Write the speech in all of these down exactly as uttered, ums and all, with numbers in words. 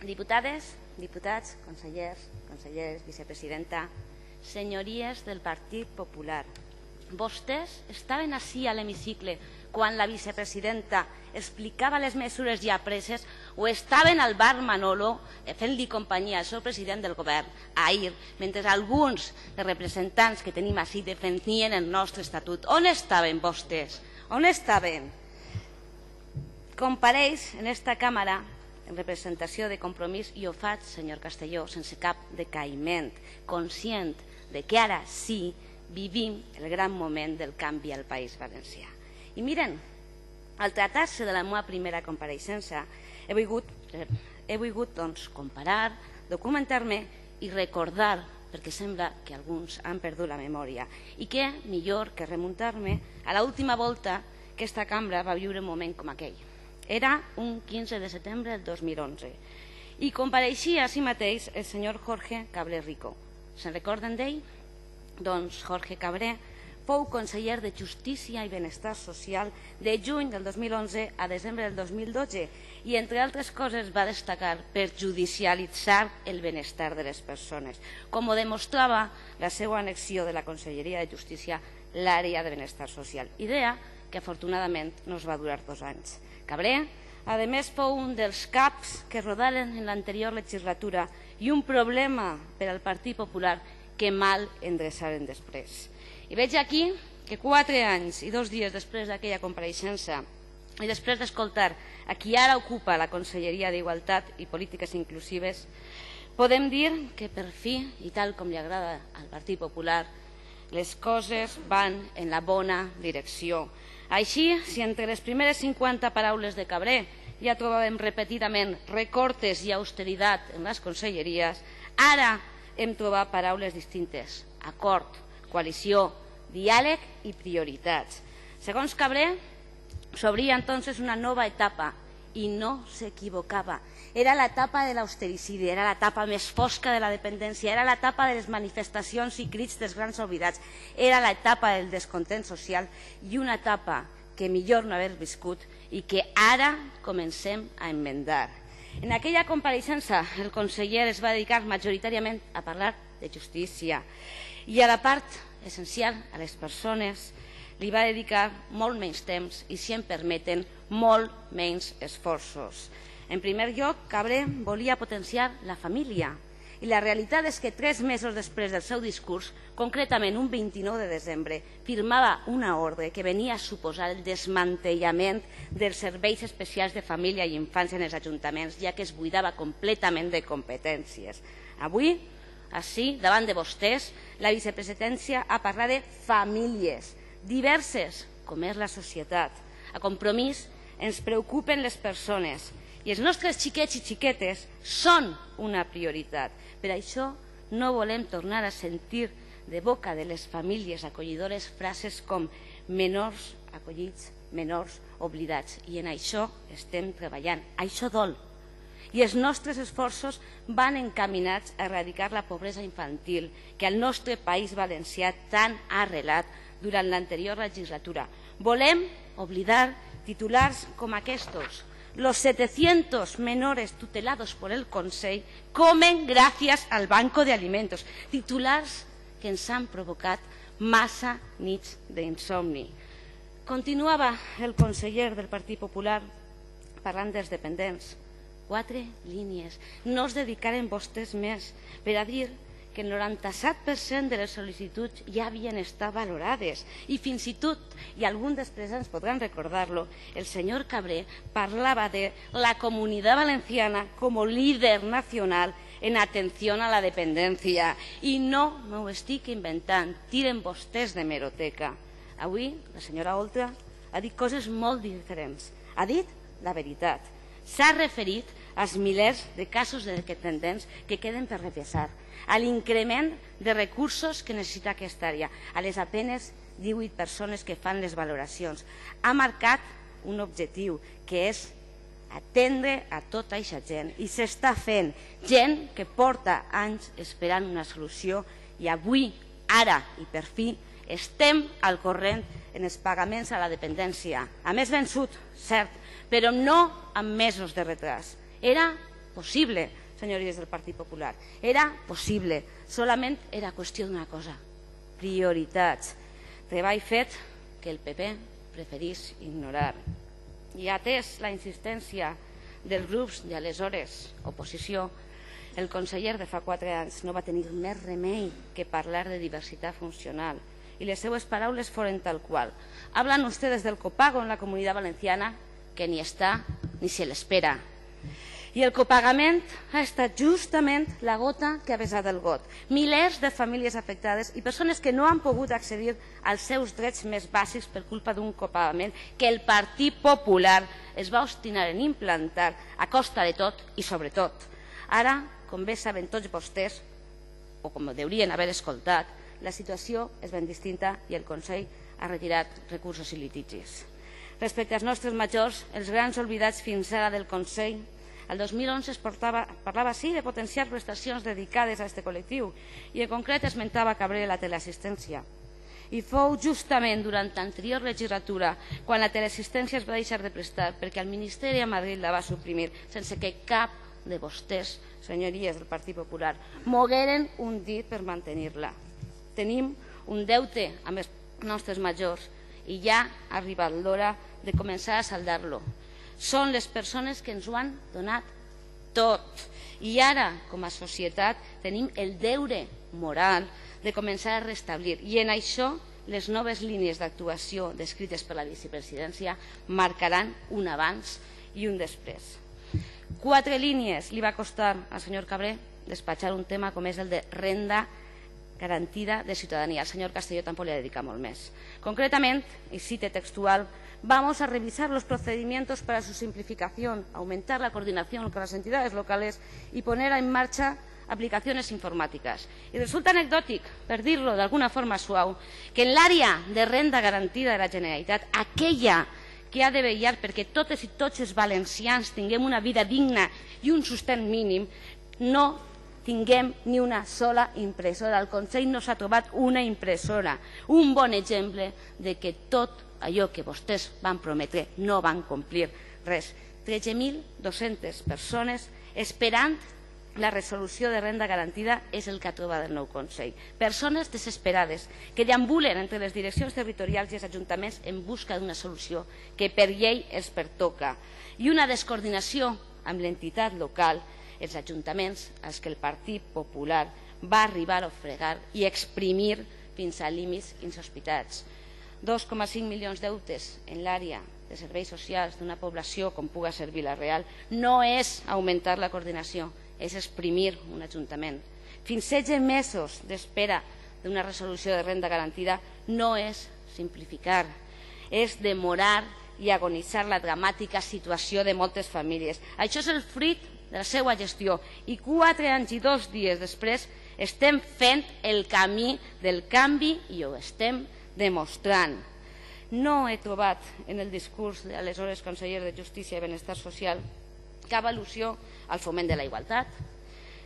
Diputades, diputats, consellers, conselleres, vicepresidenta, senyories del Partit Popular, vostès estaven ací a l'hemicicle quan la vicepresidenta explicava les mesures ja preses o estaven al bar Manolo fent-li companyia al seu president del govern ahir, mentre alguns dels representants que tenim ací defendien el nostre estatut? On estaven vostès? On estaven? Compareix en esta càmera en representació de Compromís i ho faig, senyor Castelló, sense cap decaïment, conscient de que ara sí vivim el gran moment del canvi al País Valencià. I miren, al tractar-se de la meva primera compareixença, he volgut, he volgut doncs, comparar, documentar-me i recordar, perquè sembla que alguns han perdut la memòria, i què millor que remuntar-me a l'última volta que esta cambra va viure un moment com aquell. Era un quinze de setembre del dos mil onze i compareixia a si mateix el senyor Jorge Cabré Rico. Se'n recorden d'ell? Doncs Jorge Cabré fou conseller de Justícia i Benestar Social de juny del dos mil onze a desembre del dos mil dotze i, entre altres coses, va destacar per judicialitzar el benestar de les persones, com ho demostrava la seva annexió de la Conselleria de Justícia l'àrea de Benestar Social, idea que afortunadament no es va durar dos anys. Cabré, a més, fou un dels caps que rodaren en l'anterior legislatura i un problema per al Partit Popular que mal endreçaren després. I veig aquí que quatre anys i dos dies després d'aquella compareixença i després d'escoltar a qui ara ocupa la Conselleria d'Igualtat i Polítiques Inclusives, podem dir que per fi, i tal com li agrada al Partit Popular, les coses van en la bona direcció. Així, si entre les primeres cinquanta paraules de Cabré ja trobàvem repetidament recortes i austeritat en les conselleries, ara hem trobat paraules distintes: acord, coalició, diàleg i prioritats. Segons Cabré, s'obria entonces una nova etapa i no s'equivocava. Era l'etapa de l'austericidi, era l'etapa més fosca de la dependència, era l'etapa de les manifestacions i crits dels grans oblidats, era l'etapa del descontent social i una etapa que millor no haver viscut i que ara comencem a enmendar. En aquella compareixença el conseller es va dedicar majoritàriament a parlar de justícia i a la part essencial, a les persones, li va dedicar molt menys temps i, si em permeten, molt menys esforços. En primer lloc, Cabré volia potenciar la família i la realitat és que tres mesos després del seu discurs, concretament un vint-i-nou de desembre, firmava una ordre que venia a suposar el desmantellament dels serveis especials de família i infància en els ajuntaments, ja que es buidava completament de competències. Avui, així, davant de vostès, la vicepresidència ha parlat de famílies diverses, com és la societat. A Compromís ens preocupen les persones i els nostres xiquets i xiquetes són una prioritat. Per això no volem tornar a sentir de boca de les famílies acollidores frases com menors acollits, menors oblidats. I en això estem treballant. Això dol. I els nostres esforços van encaminats a erradicar la pobresa infantil que el nostre País Valencià tant ha arrelat durant l'anterior legislatura. Volem oblidar titulars com aquests. Los setecientos menores tutelados por el Consell comen gracias al Banco de Alimentos. Titulars que ens han provocat massa nits d'insomni. Continuava el conseller del Partit Popular parlant dels dependents. Quatre línies. No es dedicaren vostès més per a dir que el noranta-set per cent de les sol·licituds ja havien estat valorades i fins i tot, i alguns dels presents podran recordar-lo, el senyor Cabré parlava de la Comunitat Valenciana com a líder nacional en atenció a la dependència. I no m'ho estic inventant, tiren vostès de meroteca. Avui la senyora Oltra ha dit coses molt diferents. Ha dit la veritat. S'ha referit als milers de casos de dependents que queden per revisar, a l'increment de recursos que necessita aquesta àrea, a les apenes divuit persones que fan les valoracions. Ha marcat un objectiu, que és atendre a tota aquesta gent, i s'està fent. Gent que porta anys esperant una solució i avui, ara i per fi, estem al corrent en els pagaments a la dependència. A més vençut, cert, però no amb mesos de retras. Era possible, senyories del Partit Popular. Era possible, solament era qüestió d'una cosa, prioritats. Treball fet que el P P preferís ignorar. I atès la insistència dels grups de aleshores oposició, el conseller de fa quatre anys no va tenir més remei que parlar de diversitat funcional y les seues paraules foren tal qual. Hablan ustedes del copago en la Comunidad Valenciana, que ni està ni se l'espera. I el copagament ha estat justament la gota que ha vessat el got. Milers de famílies afectades i persones que no han pogut accedir als seus drets més bàsics per culpa d'un copagament que el Partit Popular es va obstinar en implantar a costa de tot i sobretot. Ara, com bé saben tots vostès, o com deurien haver escoltat, la situació és ben distinta i el Consell ha retirat recursos i litigis. Respecte als nostres majors, els grans oblidats fins ara del Consell, el dos mil onze es portava, parlava sí de potenciar prestacions dedicades a aquest col·lectiu i en concret esmentava Cabré la teleassistència. I fou justament durant l'anterior legislatura quan la teleassistència es va deixar de prestar perquè el Ministeri a Madrid la va suprimir sense que cap de vostès, senyories del Partit Popular, mogueren un dit per mantenir-la. Tenim un deute amb els nostres majors i ja ha arribat l'hora de començar a saldar-lo. Són les persones que ens ho han donat tot. I ara, com a societat, tenim el deure moral de començar a restablir. I en això, les noves línies d'actuació descrites per la vicepresidència marcaran un abans i un després. Quatre línies li va costar al senyor Cabré despatxar un tema com és el de renda garantida de ciudadanía. Al señor Castelló tampoco le dedica molt més. Concretamente, y cite textual, vamos a revisar los procedimientos para su simplificación, aumentar la coordinación con las entidades locales y poner en marcha aplicaciones informáticas. Y resulta anecdòtic, per dir-lo d'alguna forma suau, que en l'àrea de renda garantida de la Generalitat, aquella que ha de vetllar perquè totes i tots els valencians tinguem una vida digna i un sostén mínim, no tinguem ni una sola impressora. El Consell no s'ha trobat una impressora. Un bon exemple de que tot allò que vostès van prometre no van complir res. tretze mil dos-centes persones esperant la resolució de renda garantida és el que ha trobat el nou Consell. Persones desesperades que deambulen entre les direccions territorials i els ajuntaments en busca d'una solució que per llei els pertoca. I una descoordinació amb l'entitat local, els ajuntaments, als que el Partit Popular va arribar a ofegar i exprimir fins a límits insospitats. dos coma cinc milions d'euros en l'àrea de serveis socials d'una població com puga ser Vila-real no és augmentar la coordinació, és exprimir un ajuntament. Fins setze mesos d'espera d'una resolució de renda garantida no és simplificar, és demorar i agonitzar la dramàtica situació de moltes famílies. Això és el fruit de la seva gestió i quatre anys i dos dies després estem fent el camí del canvi i ho estem demostrant. No he trobat en el discurs de l'aleshores conseller de Justícia i Benestar Social cap al·lusió al foment de la igualtat,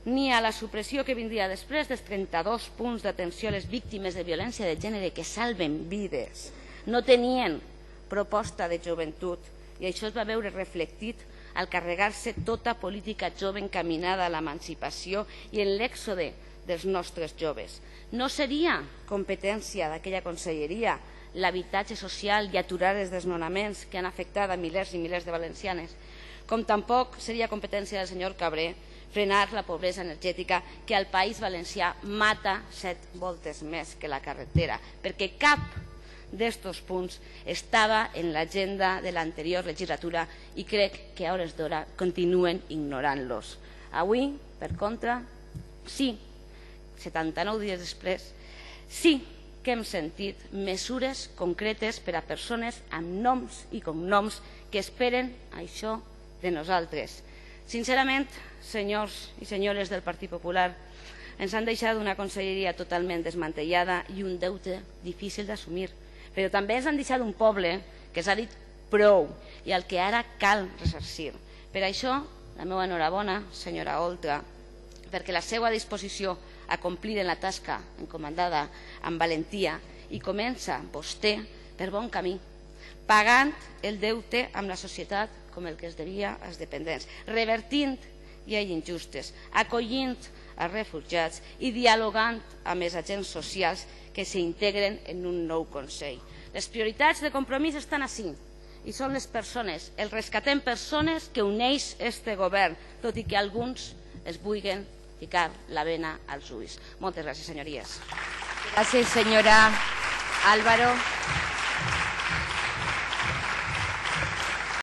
ni a la supressió que vindria després dels trenta-dos punts d'atenció a les víctimes de violència de gènere que salven vides. No tenien proposta de joventut i això es va veure reflectit al carregar-se tota política jove encaminada a l'emancipació i en l'èxode dels nostres joves. No seria competència d'aquella conselleria l'habitatge social i aturar els desnonaments que han afectat a milers i milers de valencianes, com tampoc seria competència del senyor Cabré frenar la pobresa energètica que al País Valencià mata set voltes més que la carretera, perquè cap d'estos punts estava en l'agenda de l'anterior legislatura i crec que a hores d'hora continuen ignorant-los. Avui, per contra, sí, setanta-nou dies després, sí que hem sentit mesures concretes per a persones amb noms i cognoms que esperen això de nosaltres. Sincerament, senyors i senyores del Partit Popular, ens han deixat una conselleria totalment desmantellada i un deute difícil d'assumir. Però també ens han deixat un poble que s'ha dit prou i al que ara cal ressarcir. Per això, la meva enhorabona, senyora Oltra, perquè la seva disposició a complir en la tasca encomandada amb valentia i comença vostè per bon camí, pagant el deute amb la societat com el que es devia als dependents, revertint i injustes, acollint els refugiats i dialogant amb els agents socials que s'integren en un nou Consell. Les prioritats de Compromís estan ací i són les persones, el rescatem persones que uneix este govern, tot i que alguns es vulguin ficar la bena als ulls. Moltes gràcies, senyories. Gràcies, senyora Álvaro.